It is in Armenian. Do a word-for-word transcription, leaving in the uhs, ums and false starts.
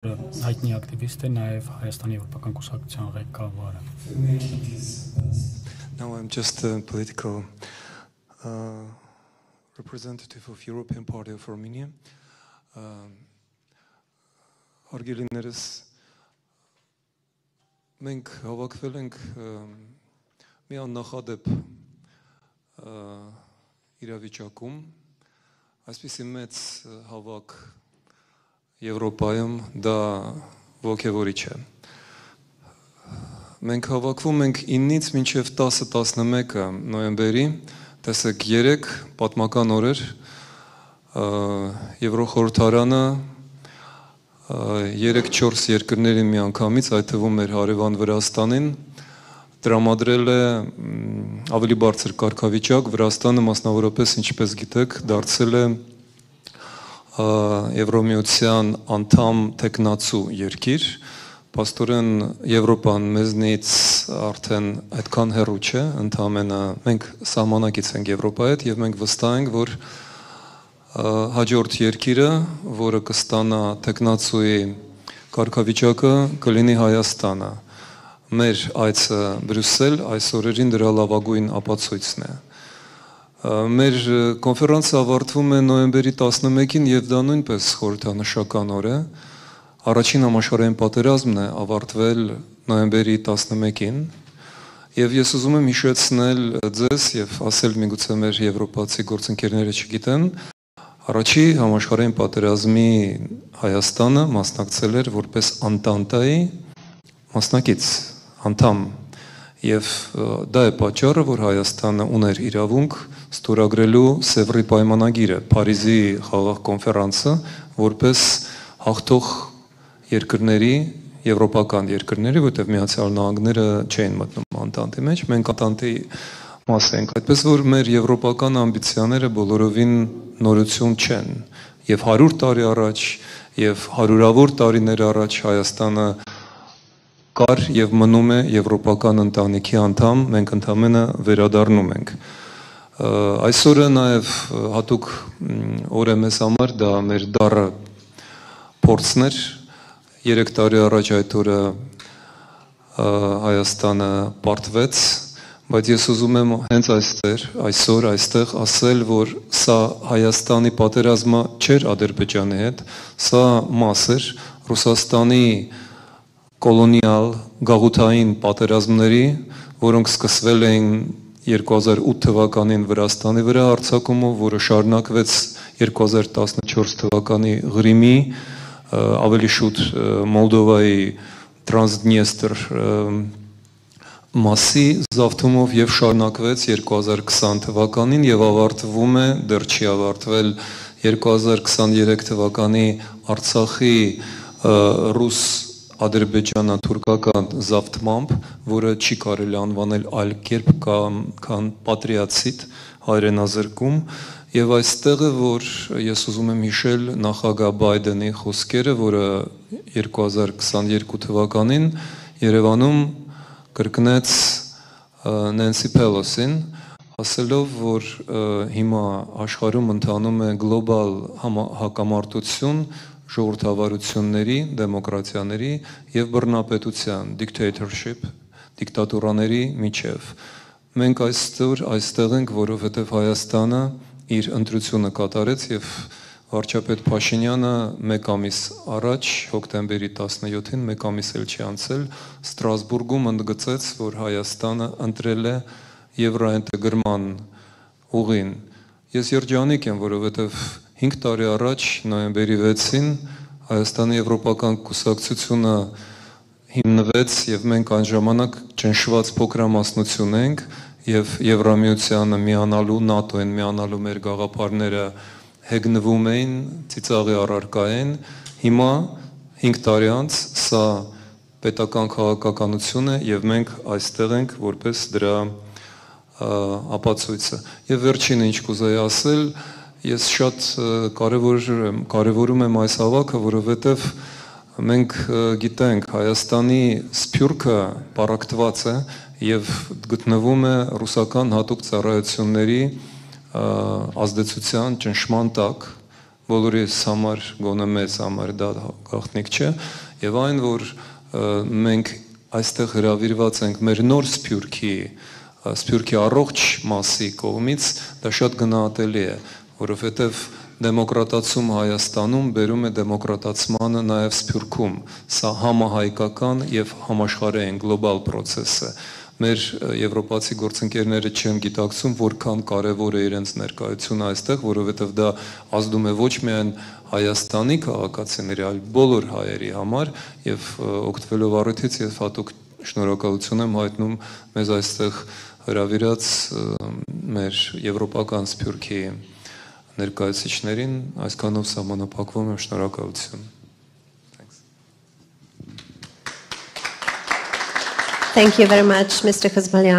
հայտնի ակտիվիստ է, նաև Հայաստանի Եվրոպական կուսակցության ղեկավարը։ Now I'm just a political uh, representative of European Party of Armenia. Հարգելիներս, մենք հավաքվել ենք մի աննախադեպ իրավիճակում, այսպիսի մեծ հավաք Եվրոպայում դա ոգևորիչ է։ Մենք հավաքվում ենք իննից մինչև տասը տասնմեկը նոյեմբերի, տեսեք երեք պատմական օրեր, Եվրոխորհրդարանը երեք-չորս երկրների միանգամից, այդ թվում մեր հարևան Վրաստանին, տրամադրել է ավելի բարձր կարգավիճակ, Վրաստանը մասնավորապես, ինչպես գիտեք, դարձել է Եվրոմիության անդամ տեխնացու երկիր, պաստորեն Եվրոպան մեզնից արդեն այդքան հեռու չէ, ընդամենը մենք սահմանակից ենք Եվրոպայի հետ եւ մենք վստահ ենք, որ հաջորդ երկիրը, որը կստանա տեխնացուի կարգավիճակը, կլինի Հայաստանը։ Մեր այցը Բրյուսել այս օրերին դրա լավագույն ապացույցն է։ Մեր կոնֆերանսը ավարտվում է նոյեմբերի տասնմեկին եւ դա նույնպես խորհրդանշական օր է։ Առաջին համաշխարհային պատերազմն է ավարտվել նոյեմբերի տասնմեկին եւ ես ուզում եմ հիշեցնել ձեզ եւ ասել միգուցե մեր եվրոպացի գործընկերները չգիտեն, առաջի համաշխարհային պատերազմի Հայաստանը մասնակցել էր որպես Անտանտայի մասնակից, անդամ եւ դա է պատճառը, որ Հայաստանը ուներ իրավունք ստորագրելու Սևրի պայմանագիրը, Փարիզի խաղաղ կոնֆերանսը, որպես հաղթող երկրների, եվրոպական երկրների, որտեղ Միացյալ Նահանգները չէին մտնում Անտանտի մեջ, մենք Անտանտի մաս ենք, այդպես որ մեր եվրոպական ամբիցիաները բոլորովին նորություն չեն, եւ հարյուր տարի առաջ, եւ հարյուրավոր տարիներ առաջ Հայաստանը կար եւ մնում է եվրոպական ընտանիքի անդամ, մենք ընդամենը վերադառնում ենք։ Այսօրը նաև հատուկ օր է մեզ համար, դա մեր դառը փորձն էր, երեք տարի առաջ այդ օրը Հայաստանը պարտվեց, բայց ես ուզում եմ հենց այստեղ, այսօր այստեղ ասել, որ սա Հայաստանի պատերազմը չէր Ադրբեջանի հետ, սա մաս էր Ռուսաստանի կոլոնիալ գաղութային պատերազմների, որոնք սկսվել էին երկու հազար ութ թվականին Վրաստանի վրա հարձակումով, որը շարունակվեց երկու հազար տասնչորս թվականի Ղրիմի, ավելի շուտ Մոլդովայի Տրանսդնիեստր մասի զավթումով եւ շարունակվեց երկու հազար քսան թվականին եւ ավարտվում է, դեռ չի ավարտվել երկու հազար քսաներեք թվականի Արցախի ռուս ադրբեջանա-թուրքական զավթմամբ, որը չի կարելի անվանել այլ կերպ քան պատրիացիտ հայրենազրկում, եւ այստեղ է, որ ես ուզում եմ հիշել նախագահ Բայդենի խոսքերը, որը երկու հազար քսաներկու թվականին Երևանում կրկնեց Նենսի Փելոսին, ասելով, որ հիմա աշխարհում ընթանում է գլոբալ հակամարտություն ժողովրդավարությունների, դեմոկրատիաների եւ բռնապետության, dictatorship, դիկտատուրաների միջև։ Մենք այստեղ այստեղ ենք, որովհետեւ Հայաստանը իր ընտրությունը կատարեց եւ վարչապետ Փաշինյանը մեկ ամիս առաջ, հոկտեմբերի տասնյոթին, մեկ ամիս էլ չի անցել, Ստրասբուրգում ընդգծեց, որ Հայաստանը ընտրել է եվրոինտեգրման ուղին։ Ես երջանիկ եմ, որովհետեւ հինգ տարի առաջ, նոյեմբերի վեցին, Հայաստանի Եվրոպական կուսակցությունը հիմնվեց եւ մենք այն ժամանակ ճնշված փոքրամասնություն ենք եւ Եվրամիությանը միանալու, ՆԱՏՕ-ին միանալու մեր գաղափարները հեգնվում էին, ծիծաղի առարկա են։ Հիմա հինգ տարի անց սա պետական քաղաքականություն է եւ մենք այստեղ ենք որպես դրա ապացույցը։ Եվ վերջինը ինչ կուզեի ասել, ես շատ կարևոր կարևորում եմ այս հավաքը, որովհետև մենք գիտենք Հայաստանի սփյուռքը պարակտված է եւ գտնվում է ռուսական հատուկ ծառայությունների ազդեցության ճնշման տակ, բոլորիս համար, գոնե մեզ համար դա գաղտնիք չէ, եւ այն, որ մենք այստեղ հրավիրված ենք մեր նոր Սփյուռքի, Սփյուռքի առողջ մասի կողմից, դա շատ գնահատելի է, որովհետեւ դեմոկրատացում Հայաստանում բերում է դեմոկրատացմանը նաև Սփյուռքում, սա համահայկական եւ համաշխարհային գլոբալ process է։ Մեր եվրոպացի գործընկերները չեն գիտակցում, որքան կարևոր է իրենց ներկայությունը այստեղ, որովհետև դա ազդում է ոչ միայն Հայաստանի քաղաքացիների, այլ բոլոր հայերի համար եւ օգտվելով առիթից եւ հատուկ շնորհակալություն եմ հայտնում մեզ այստեղ հրավիրած մեր եվրոպական Սփյուռքի ներկայացուցիչներին, այսքանով սահմանափակվում եմ, շնորհակալություն։ Thank you very much, Mister Khazbalyan.